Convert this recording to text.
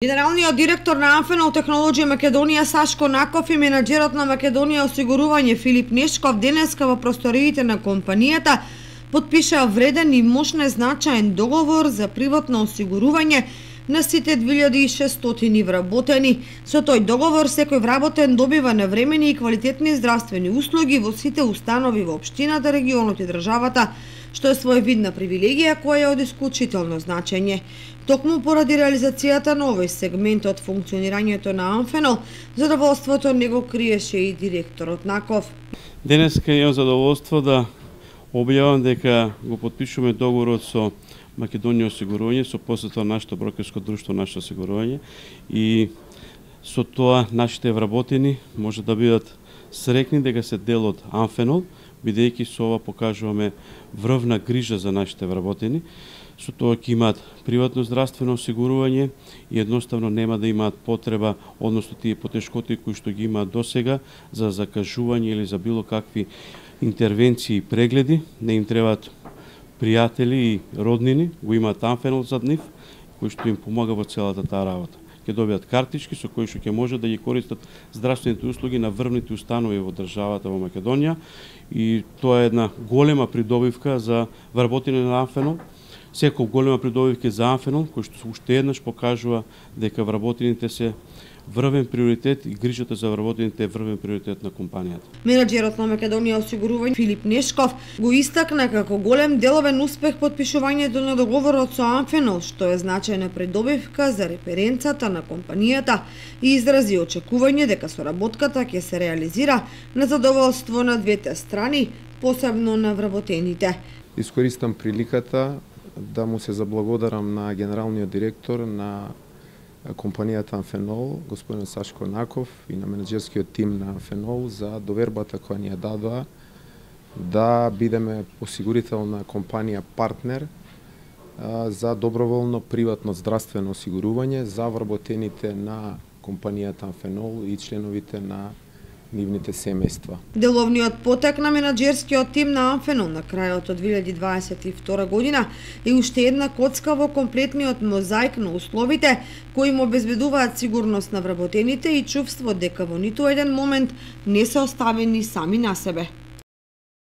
Генералниот директор на Амфенол Технолоџија Македонија Сашко Наков и менаџерот на Македонија Осигурување Филип Нешков денеска во просториите на компанијата потпишаа вреден и мощен значаен договор за приватно осигурување на сите 2600 вработени. Со тој договор секој вработен добива навремени и квалитетни здравствени услуги во сите установи во општината, регионот и државата, што е своевидна привилегија која е од исклучително значење. Токму поради реализацијата на овој сегмент од функционирањето на Амфенол, задоволството не го криеше и директорот Наков. Денеска имам задоволство да објавам дека го потпишуваме договорот со Македонија Осигурување, со посета на нашето брокерско друштво Наше осигурување, и со тоа нашите вработени може да бидат срекни дека се дел од Амфенол, бидејќи со ова покажуваме врвна грижа за нашите вработени. Со тоа ќе имаат приватно здравствено осигурување и едноставно нема да имаат потреба, односно тие потешкоти кои што ги имаат досега за закажување или за било какви интервенции и прегледи, не им требаат пријатели и роднини, го имаат Амфенол зад нив, кој што им помага во целата таа работа. Ќе добијат картички со кои што ќе може да ги користат здравствените услуги на врвните установи во државата во Македонија, и тоа е една голема придобивка за вработени на Амфенол. Секој голема придобивка за Амфенол, кој што уште еднаш покажува дека вработените се врвен приоритет и грижата за вработените е врвен приоритет на компанијата. Менаџерот на Македонија Осигурување Филип Нешков го истакна како голем деловен успех потпишувањето на договорот со Амфенол, што е значајна придобивка за референцата на компанијата, и изрази очекување дека соработката ќе се реализира на задоволство на двете страни, посебно на вработените. Искористам приликата да му се заблагодарам на генералниот директор на компанијата Амфенол, господин Сашко Наков, и на менеджерскиот тим на Амфенол за довербата која ни ја дадоа да бидеме осигурителна компанија партнер за доброволно приватно здравствено осигурување за вработените на компанијата Амфенол и членовите на нивните семејства. Деловниот потек на менаџерскиот тим на Амфенол на крајот од 2022 година е уште една коцка во комплетниот мозаик на условите кои им обезбедуваат сигурност на вработените и чувство дека во ниту еден момент не се оставени сами на себе.